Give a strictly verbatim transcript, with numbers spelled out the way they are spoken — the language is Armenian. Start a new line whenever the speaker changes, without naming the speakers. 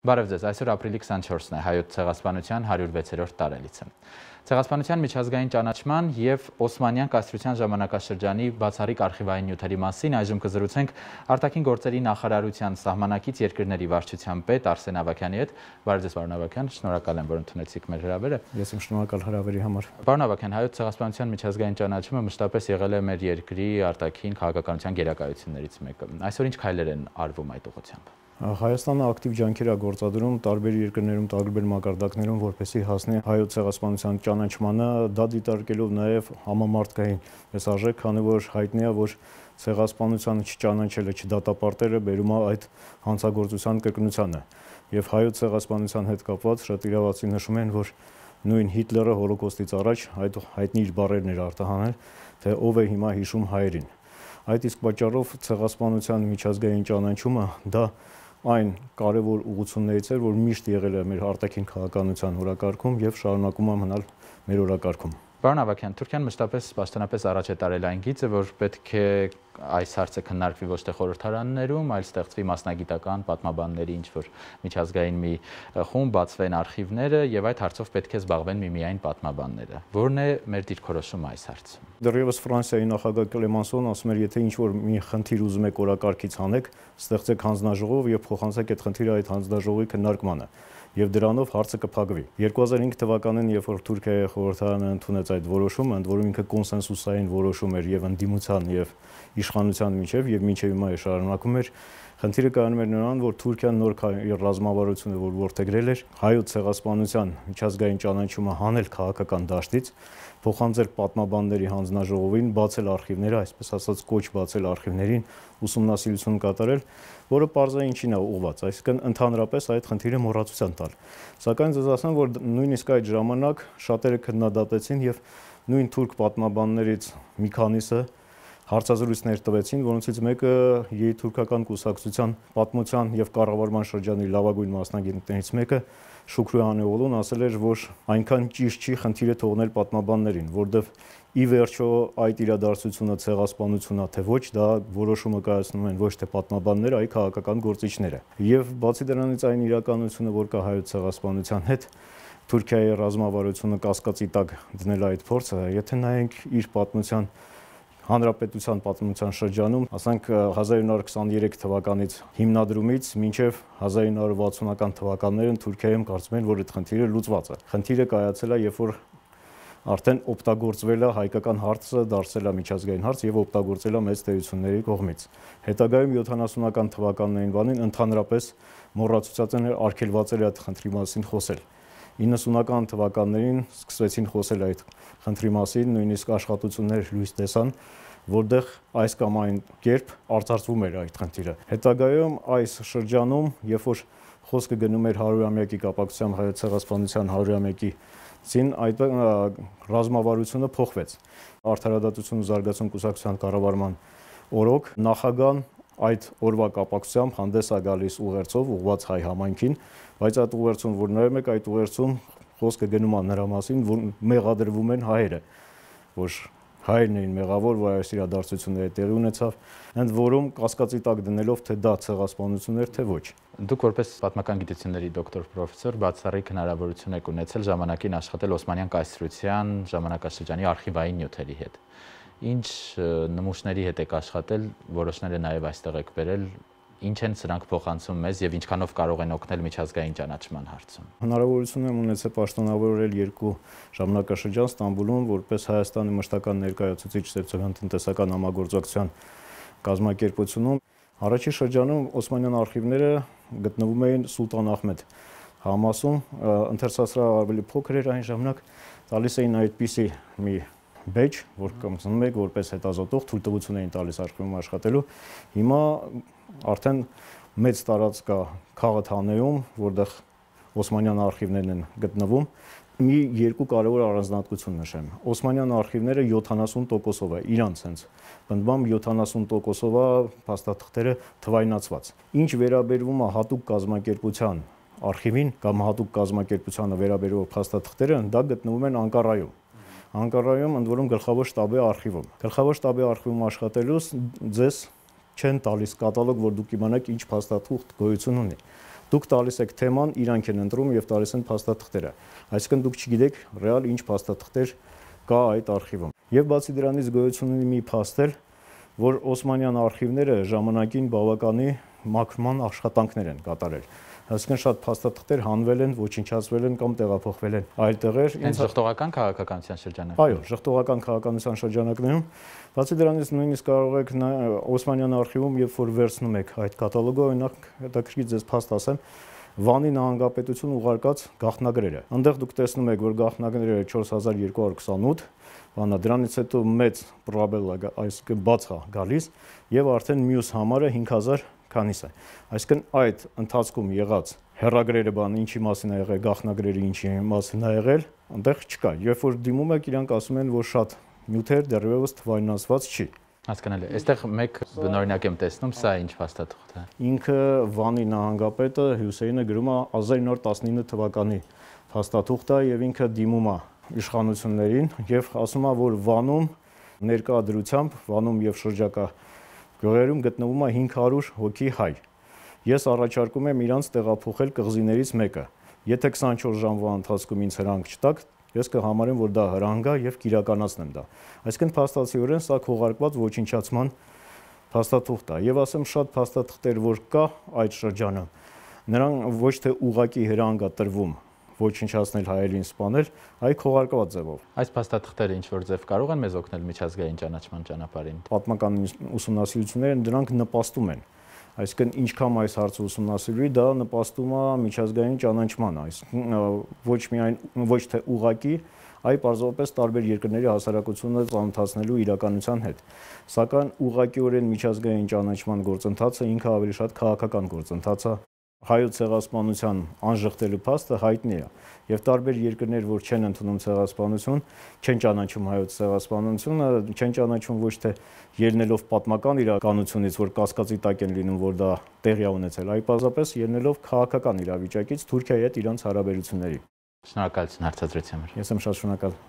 Բարև ձեզ, այսօր ապրիլի քսանչորսն է, հայոց ցեղասպանության հարյուրվեցերորդ տարելիցը։ Ցեղասպանության միջազգային ճանաչման և Օսմանյան կայսրության ժամանակաշրջանի բացառիկ արխիվային նյութերի մասին այժմ կզրուցենք արտաքին գործերի նախարարության սահմանակից երկրների վարչության պետ Արսեն Ավագյանի հետ։ Բարև ձեզ, պարոն Ավագյան, շնորհակալ եմ, որ ընդունեցիք մեր հրավերը։
Ես եմ շնորհակալ հրավերի համար։
Պարոն Ավագյան, հայոց ցեղասպանության միջազգային ճանաչումը մշտապես եղել է մեր երկրի արտաքին քաղաքականության գերակայություններից մեկը։ Այսօր ինչ քայլեր են արվում այդ ուղղությամբ։
Հայաստանը ակտիվ ջանքեր է գործադրում տարբեր երկրներում, տարբեր մակարդակներում, որպեսզի հասնի հայոց ցեղասպանության ճանաչմանը, դա դիտարկելով նաև համամարտկային այս արժեք, քանի որ հայտնի է, որ ցեղասպանությանը չճանաչելը, չդատապարտելը բերում է այդ հանցագործության կրկնությանը։ Եվ հայոց ցեղասպանության հետ կապված շատ իրավացի նշում են, որ նույն Հիտլերը հոլոկոստից առաջ այդ հայտնի իր բառերն էր արտահանել, թե ով է հիմա հիշում հայերին։ Այդ իսկ պատճառով ցեղասպանության միջազգային ճանաչումը դա այն կարևոր ուղղություններից էր, որ միշտ եղել է մեր արտաքին քաղաքականության օրակարգում եւ շարունակում է մնալ մեր օրակարգում։
Պարոն Ավագյան, Թուրքիան մշտապես պաշտոնապես առաջ է տարել այն գիծը, որ պետք է այս հարցը քննարկվի ոչ թե խորհրդարաններում, այլ ստեղծվի մասնագիտական պատմաբանների ինչ-որ միջազգային մի խումբ, բացվեն արխիվները եւ այդ հարցով պետք է զբաղվեն միմիայն պատմաբանները։ Որն է մեր դիրքորոշումը այս հարցում։
Դեռևս Ֆրանսիայի նախագահ Կլեմանսոն ասում էր, եթե ինչ-որ մի խնդիր ուզում եք օրակարգից հանեք, ստեղծեք հանձնաժողով եւ փոխանցեք այդ խնդիրը այդ հանձնաժողովի քննարկմանը։ Եվ դրանով հարցը կփակվի։ երկու հազար հինգ թվականին, երբ որ Թուրքիայի խորհրդարանը ընդունեց այդ որոշումը, ընդ որում ինքը կոնսենսուսային որոշում էր եւ ընդդիմության եւ իշխանության միջև եւ մինչեւ հիմա է շարունակում էր, խնդիրը կայանում էր նրան, որ Թուրքիան նոր ռազմավարությունը, որ որդեգրել էր հայոց ցեղասպանության միջազգային ճանաչումը հանել քաղաքական դաշտից, փոխանցել պատմաբանների հանձնաժողովին, բացել արխիվները, այսպես ասած կոչ բացել արխիվներին, ուսումնասիրություն կատարել, որը պարզա ինչին է ուղղված, այսինքն ընդհանրապես այդ խնդիրը մոռացության տալ։ Սակայն ձեզ ասեմ, որ նույնիսկ այդ ժամանակ շատերը քննադատեցին եւ նույն թուրք պատմաբաններից մի քանիսը հարցազրույցներ տվեցին, որոնցից մեկը երիտուրքական կուսակցության պատմության եւ կառավարման շրջանի լավագույն մասնագետներից մեկը Շուքրի Անեոլուն ասել էր, որ այնքան ճիշտ չի խնդիրը թողնել պատմաբաններին, որովհետև ի վերջո այդ իրադարձությունը ցեղասպանությունն է թե ոչ, դա որոշումը կայացնում են ոչ թե պատմաբանները, այլ քաղաքական գործիչները։ Եվ բացի դրանից այն իրականությունը, որ կա հայոց ցեղասպանության հետ, Թուրքիայի ռազմավարությունը կասկածի տակ դնել այդ փորձը, եթե նայենք իր պատմության Հանրապետության պատմության շրջանում, ասենք հազար ինը հարյուր քսաներեք թվականից հիմնադրումից մինչև հազար ինը հարյուր վաթսունական թվականներին Թուրքիայում կարծում են, որ այդ խնդիրը լուծված է։ Խնդիրը կայացել է, երբ որ արդեն օգտագործվել է հայկական հարցը, դարձել է միջազգային հարց եւ օգտագործել է մեծ տերությունների կողմից։ Հետագայում յոթանասունական թվականներին բանին ընդհանրապես մոռացուցած են արգելված էր այդ խնդրի մասին խոսել։ իննսունական թվականներին սկսվեցին խոսել այդ խնդրի մասին, նույնիսկ աշխատություններ լույս տեսան, որտեղ այս կամ այն կերպ արծարծվում էր այդ խնդիրը։ Հետագայում այս շրջանում, երբ որ խոսքը գնում էր հարյուրամյակի կապակցությամբ հայոց ցեղասպանության հարյուրամյակին, այդ ռազմավարությունը փոխվեց։ Արդարադատություն ու զարգացում կուսակցության կառավարման օրոք նախագահան այդ օրվա կապակցությամբ հանդես է գալիս ուղերձով ուղղված հայ համայնքին, բայց այդ ուղերձում որ նայում եք, այդ ուղերձում խոսքը գնում է նրա մասին, որ մեղադրվում են հայերը, որ հայերն էին մեղավոր, որ այս իրադարձությունները տեղի ունեցավ, ընդ որում կասկածի տակ դնելով, թե դա ցեղասպանություն էր, թե ոչ։
Դուք որպես պատմական գիտությունների դոկտոր պրոֆեսոր բացառիկ հնարավորություն եք ունեցել ժամանակին աշխատել Օսմանյան կայսրության ժամանակաշրջանի արխիվային նյութերի հետ։ Ինչ նմուշների հետ եք աշխատել, որոշները նաև այստեղ եք բերել, ինչ են սրանք փոխանցում մեզ եւ ինչքանով կարող են օգնել միջազգային ճանաչման հարցում։
Հնարավորություն եմ ունեցել պաշտոնավորել երկու ժամանակաշրջան Ստամբուլում, որպես Հայաստանի մշտական ներկայացուցիչ սոցիալ-տնտեսական համագործակցության կազմակերպությունում։ Առաջին շրջանում Օսմանյան արխիվները գտնվում էին Սուլտան Ահմեդ համասում, ընթերցասրահը ավելի փոքր էր այն ժամանակ, տալիս էին այդպիսի մի բեջ, որ կմցնում եք որպես հետազոտող, թույլտվություն էին տալիս արխիվում աշխատելու։ Հիմա արդեն մեծ տարածք կա Քաղաքանեում, որտեղ Օսմանյան արխիվներն են գտնվում։ Մի երկու կարևոր առանձնահատկություն նշեմ։ Օսմանյան արխիվները յոթանասուն տոկոսով է, իրանց հենց բնդբամ յոթանասուն տոկոսով է փաստաթղթերը թվայնացված։ Ինչ վերաբերվում է հատուկ կազմակերպության արխիվին կամ հատուկ կազմակերպությանը վերաբերող փաստաթղթերը, դա գտնվում են Անկարայում։ Անկարայում ընդ որում գլխավոր շտաբի արխիվում։ Գլխավոր շտաբի արխիվում աշխատելուց ձեզ չեն տալիս կատալոգ, որ դուք իմանաք ինչ փաստաթուղթ գոյություն ունի։ Դուք տալիս եք թեման, իրանք են ընտրում եւ տալիս են փաստաթղթերը։ Այսինքն դուք չգիտեք ռեալ ինչ փաստաթղթեր կա այդ արխիվում։ Եվ բացի դրանից գոյություն ունի մի փաստ, որ Օսմանյան արխիվները ժամանակին բավականի մաքրման աշխատանքներ են կատարել։ Այսինքն շատ փաստաթղթեր հանվել են, ոչնչացվել են կամ տեղափոխվել են այլ տեղեր։
Հենց ժխտողական քաղաքականության շրջանակներում։
Այո, ժխտողական քաղաքականության շրջանակներում։ Բացի դրանից նույնիսկ կարող եք Օսմանյան արխիվում, երբ որ վերցնում եք այդ կատալոգը, օրինակ հետաքրքիր ձեզ փաստ ասեմ, Վանի նահանգապետություն ուղարկած գաղտնագրերը։ Այնտեղ դուք տեսնում եք, որ գաղտնագրերը չորս հազար երկու հարյուր քսանութ, բանա դրանից հետո մեծ պրոբելա, այսինքն բաց է գալիս, եւ արդեն մյուս համարը հինգ հազար քանիս է։ Այսինքն այդ ընթացքում եղած հեռագրերը բան ինչի մասին է եղել, գաղտնագրերը ինչի մասին է եղել, այնտեղ չկա։ Երբ որ դիմում եք, իրանք ասում են, որ շատ նյութեր դեռևս թվայնացված չի։
Հասկանալի։ Այստեղ մեկ բնօրինակ եմ տեսնում, սա ինչ փաստաթուղթ է։
Ինքը Վանի նահանգապետը Հյուսեյնը գրում է հազար ինը հարյուր տասնինը թվականի փաստաթուղթ է եւ ինքը դիմում է իշխանություններին եւ ասում է, որ Վանում ներկա դրությամբ Վանում եւ շրջակա գյուղերում գտնվում է հինգ հարյուր հոգի հայ։ Ես առաջարկում եմ իրանց տեղափոխել կղզիներից մեկը։ Եթե քսանչորս ժամվա ընթացքում ինձ հրանք չտաք, ես կհամարեմ, որ դա հրանգ է եւ կիրականացնեմ դա։ Այսինքն փաստացիորեն սա քողարկված ոչնչացման փաստաթուղթ է։ Եվ ասեմ շատ փաստաթղթեր, որ կա այդ շրջանում, նրան ոչ թե ուղակի հրանգ է տրվում ոչնչացնել հայերին սպանել, այլ քողարկված ձևով։
Այս փաստաթղթերը ինչ որ ձև կարող են մեզ օգնել միջազգային ճանաչման ճանապարհին։
Պատմական ուսումնասիրությունները դրանք նպաստում են։ Այսինքն ինչքան այս հարցը ուսումնասիրվի, դա նպաստում է միջազգային ճանաչման, այսինքն ոչ միայն ոչ թե ուղակի, այլ պարզապես տարբեր երկրների հասարակությունը ծանոթացնելու իրականության հետ։ Սակայն ուղղակիորեն միջազգային ճանաչման գործընթացը ինքը ավելի շատ քաղաքական գործընթաց է։ Հայոց ցեղասպանության անժխտելու փաստը հայտնի է, եւ տարբեր երկրներ, որ չեն ընդունում ցեղասպանություն, չեն ճանաչում հայոց ցեղասպանությունը, չեն ճանաչում ոչ թե ելնելով պատմական իրականությունից, որ կասկածի տակ են լինում, որ դա տեղի է ունեցել, այլ պարզապես ելնելով քաղաքական իրավիճակից Թուրքիայի հետ իրանց հարաբերությունների։
Շնորհակալություն հարցազրույցի համար։
Ես եմ շատ շնորհակալ։